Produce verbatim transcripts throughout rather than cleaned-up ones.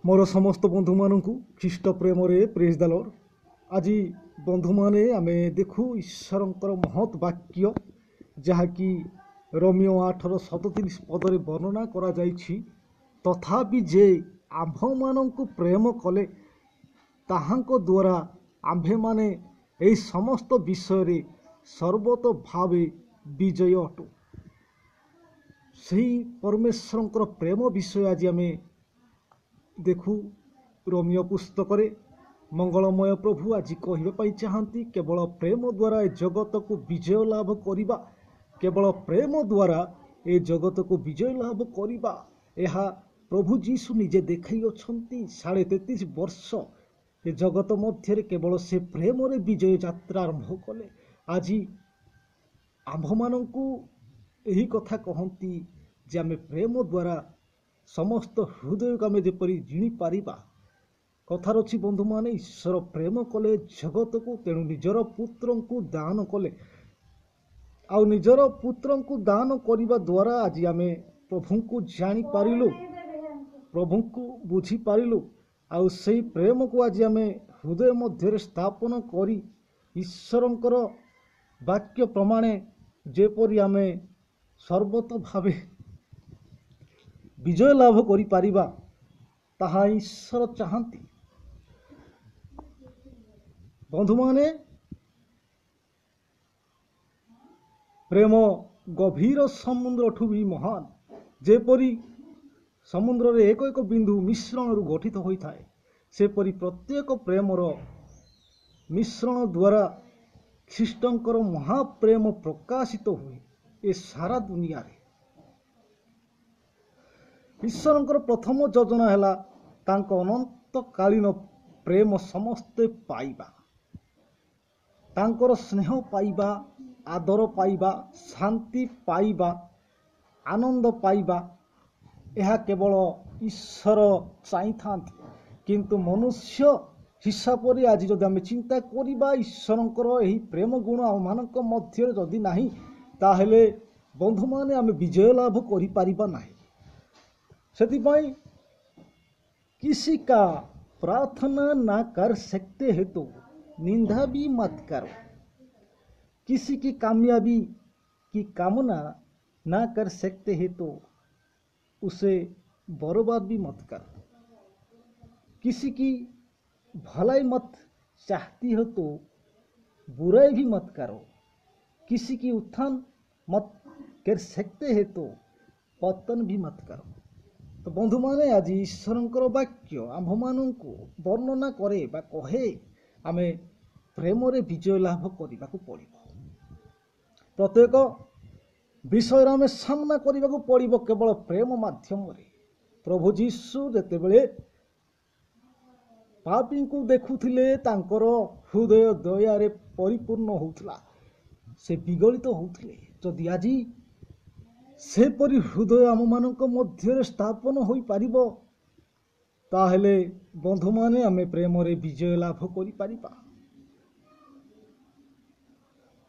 ମୋର ସମସ୍ତ ବନ୍ଧୁମାନଙ୍କୁ ଖ୍ରୀଷ୍ଟ ପ୍ରେମରେ ପ୍ରେଜ୍ ଦ ଲର୍ଡ। ଆଜି ବନ୍ଧୁମାନେ, ଆମେ ଦେଖୁ ଈଶ୍ୱରଙ୍କର ମହତ୍ ବାକ୍ୟ, ଯାହାକି ରୋମୀୟ ଆଠର ସତତିରିଶ ପଦରେ ବର୍ଣ୍ଣନା କରାଯାଇଛି। ତଥାପି ଯେ ଆମ୍ଭମାନଙ୍କୁ ପ୍ରେମ କଲେ, ତାହାଙ୍କ ଦ୍ୱାରା ଆମ୍ଭେମାନେ ଏହି ସମସ୍ତ ବିଷୟରେ ସର୍ବତ ଭାବେ ବିଜୟ ଅଟୁ। ସେହି ପରମେଶ୍ୱରଙ୍କର ପ୍ରେମ ବିଷୟ ଆଜି ଆମେ ଦେଖୁ ରୋମୀୟ ପୁସ୍ତକରେ। ମଙ୍ଗଳମୟ ପ୍ରଭୁ ଆଜି କହିବା ପାଇଁ ଚାହାନ୍ତି, କେବଳ ପ୍ରେମ ଦ୍ୱାରା ଏ ଜଗତକୁ ବିଜୟ ଲାଭ କରିବା, କେବଳ ପ୍ରେମ ଦ୍ୱାରା ଏ ଜଗତକୁ ବିଜୟ ଲାଭ କରିବା। ଏହା ପ୍ରଭୁ ଯୀଶୁ ନିଜେ ଦେଖାଇ ଅଛନ୍ତି। ସାଢ଼େ ତେତିଶ ବର୍ଷ ଏ ଜଗତ ମଧ୍ୟରେ କେବଳ ସେ ପ୍ରେମରେ ବିଜୟ ଯାତ୍ରା ଆରମ୍ଭ କଲେ। ଆଜି ଆମ୍ଭମାନଙ୍କୁ ଏହି କଥା କହନ୍ତି ଯେ ଆମେ ପ୍ରେମ ଦ୍ୱାରା ସମସ୍ତ ହୃଦୟକୁ ଆମେ ଯେପରି ଜିଣିପାରିବା। କଥାରେ ଅଛି ବନ୍ଧୁମାନେ, ଈଶ୍ୱର ପ୍ରେମ କଲେ ଜଗତକୁ, ତେଣୁ ନିଜର ପୁତ୍ରଙ୍କୁ ଦାନ କଲେ। ଆଉ ନିଜର ପୁତ୍ରଙ୍କୁ ଦାନ କରିବା ଦ୍ୱାରା ଆଜି ଆମେ ପ୍ରଭୁଙ୍କୁ ଜାଣିପାରିଲୁ, ପ୍ରଭୁଙ୍କୁ ବୁଝିପାରିଲୁ। ଆଉ ସେଇ ପ୍ରେମକୁ ଆଜି ଆମେ ହୃଦୟ ମଧ୍ୟରେ ସ୍ଥାପନ କରି ଈଶ୍ୱରଙ୍କର ବାକ୍ୟ ପ୍ରମାଣେ ଯେପରି ଆମେ ସର୍ବତ ଭାବେ ବିଜୟ ଲାଭ କରିପାରିବା, ତାହା ଈଶ୍ୱର ଚାହାନ୍ତି। ବନ୍ଧୁମାନେ, ପ୍ରେମ ଗଭୀର ସମୁଦ୍ରଠୁ ବି ମହାନ। ଯେପରି ସମୁଦ୍ରରେ ଏକ ଏକ ବିନ୍ଦୁ ମିଶ୍ରଣରୁ ଗଠିତ ହୋଇଥାଏ, ସେପରି ପ୍ରତ୍ୟେକ ପ୍ରେମର ମିଶ୍ରଣ ଦ୍ୱାରା ଖ୍ରୀଷ୍ଟଙ୍କର ମହାପ୍ରେମ ପ୍ରକାଶିତ ହୁଏ ଏ ସାରା ଦୁନିଆରେ। ଈଶ୍ୱରଙ୍କର ପ୍ରଥମ ଯୋଜନା ହେଲା ତାଙ୍କ ଅନନ୍ତକାଳୀନ ପ୍ରେମ ସମସ୍ତେ ପାଇବା, ତାଙ୍କର ସ୍ନେହ ପାଇବା, ଆଦର ପାଇବା, ଶାନ୍ତି ପାଇବା, ଆନନ୍ଦ ପାଇବା। ଏହା କେବଳ ଈଶ୍ୱର ଚାହିଁଥାନ୍ତି। କିନ୍ତୁ ମନୁଷ୍ୟ ହିସାବରେ ଆଜି ଯଦି ଆମେ ଚିନ୍ତା କରିବା, ଈଶ୍ୱରଙ୍କର ଏହି ପ୍ରେମ ଗୁଣ ଆମମାନଙ୍କ ମଧ୍ୟରେ ଯଦି ନାହିଁ, ତାହେଲେ ବନ୍ଧୁମାନେ, ଆମେ ବିଜୟ ଲାଭ କରିପାରିବା ନାହିଁ। ସେଥିପାଇଁ किसी का प्रार्थना ना कर सकते हैं तो निंदा भी मत करो, किसी की कामयाबी की कामना ना कर सकते हैं तो उसे बर्बाद भी मत करो, किसी की भलाई मत चाहती हो तो बुराई भी मत करो, किसी की उत्थान मत कर सकते हैं तो पतन भी मत करो। ତ ବନ୍ଧୁମାନେ, ଆଜି ଈଶ୍ୱରଙ୍କର ବାକ୍ୟ ଆମ୍ଭମାନଙ୍କୁ ବର୍ଣ୍ଣନା କରେ ବା କହେ, ଆମେ ପ୍ରେମରେ ବିଜୟ ଲାଭ କରିବାକୁ ପଡ଼ିବ। ପ୍ରତ୍ୟେକ ବିଷୟରେ ଆମେ ସାମ୍ନା କରିବାକୁ ପଡ଼ିବ କେବଳ ପ୍ରେମ ମାଧ୍ୟମରେ। ପ୍ରଭୁ ଯୀଶୁ ଯେତେବେଳେ ପାପୀଙ୍କୁ ଦେଖୁଥିଲେ, ତାଙ୍କର ହୃଦୟ ଦୟାରେ ପରିପୂର୍ଣ୍ଣ ହେଉଥିଲା, ସେ ବିଗଳିତ ହେଉଥିଲେ। ଯଦି ଆଜି ସେପରି ହୃଦୟ ଆମମାନଙ୍କ ମଧ୍ୟରେ ସ୍ଥାପନ ହୋଇପାରିବ, ତାହେଲେ ବନ୍ଧୁମାନେ, ଆମେ ପ୍ରେମରେ ବିଜୟ ଲାଭ କରିପାରିବା।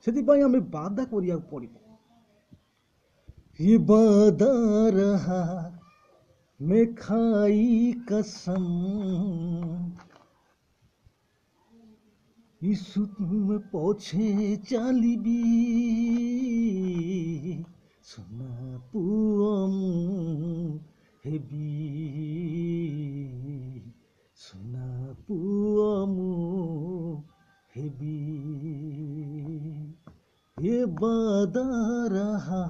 ସେଥିପାଇଁ ଆମେ ବାଦା କରିବାକୁ ପଡ଼ିବ। ये वादा रहा मैं खाई कसम, यीशु तुम ପଛେ ଚାଲିବି, ସୁନା ପୁଅ ମୁଁ ହେବି, ସୁନା ପୁଅ ମୁଁ ହେବି। ये वादा रहा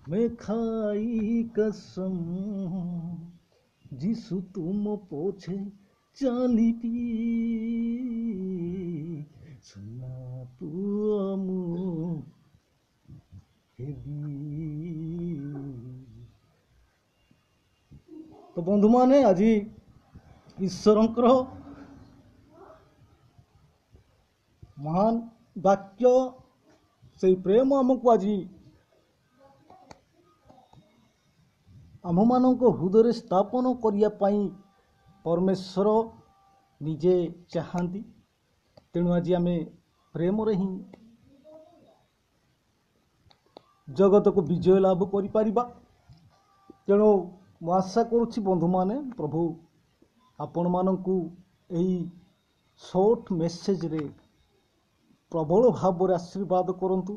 मैं खाई कसम, ଯୀଶୁ ତୁମ ପଛେ ଚାଲିବି, ସୁନା ପୁଅ ମୁଁ ହେବି। ତ ବନ୍ଧୁମାନେ, ଆଜି ଈଶ୍ୱରଙ୍କର ମହାନ ବାକ୍ୟ, ସେଇ ପ୍ରେମ ଆମକୁ ଆଜି ଆମ୍ଭମାନଙ୍କ ହୃଦୟରେ ସ୍ଥାପନ କରିବା ପାଇଁ ପରମେଶ୍ୱର ନିଜେ ଚାହାନ୍ତି। ତେଣୁ ଆଜି ଆମେ ପ୍ରେମରେ ହିଁ ଜଗତକୁ ବିଜୟ ଲାଭ କରିପାରିବା। ତେଣୁ ମୁଁ ଆଶା କରୁଛି ବନ୍ଧୁମାନେ, ପ୍ରଭୁ ଆପଣମାନଙ୍କୁ ଏହି ସର୍ଟ ମେସେଜରେ ପ୍ରବଳ ଭାବରେ ଆଶୀର୍ବାଦ କରନ୍ତୁ,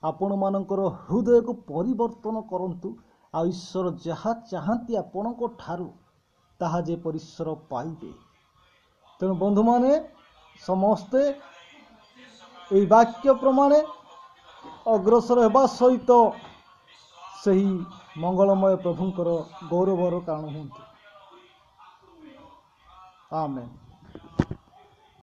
ଆପଣମାନଙ୍କର ହୃଦୟକୁ ପରିବର୍ତ୍ତନ କରନ୍ତୁ, ଆଉ ଈଶ୍ୱର ଯାହା ଚାହାନ୍ତି ଆପଣଙ୍କ ଠାରୁ ତାହା ଯେପରି ଈଶ୍ୱର ପାଇବେ। ତେଣୁ ବନ୍ଧୁମାନେ, ସମସ୍ତେ ଏହି ବାକ୍ୟ ପ୍ରମାଣେ ଅଗ୍ରସର ହେବା ସହିତ ସେହି ମଙ୍ଗଳମୟ ପ୍ରଭୁଙ୍କର ଗୌରବର କାରଣ ହୁଅନ୍ତୁ। ଆମେନ୍।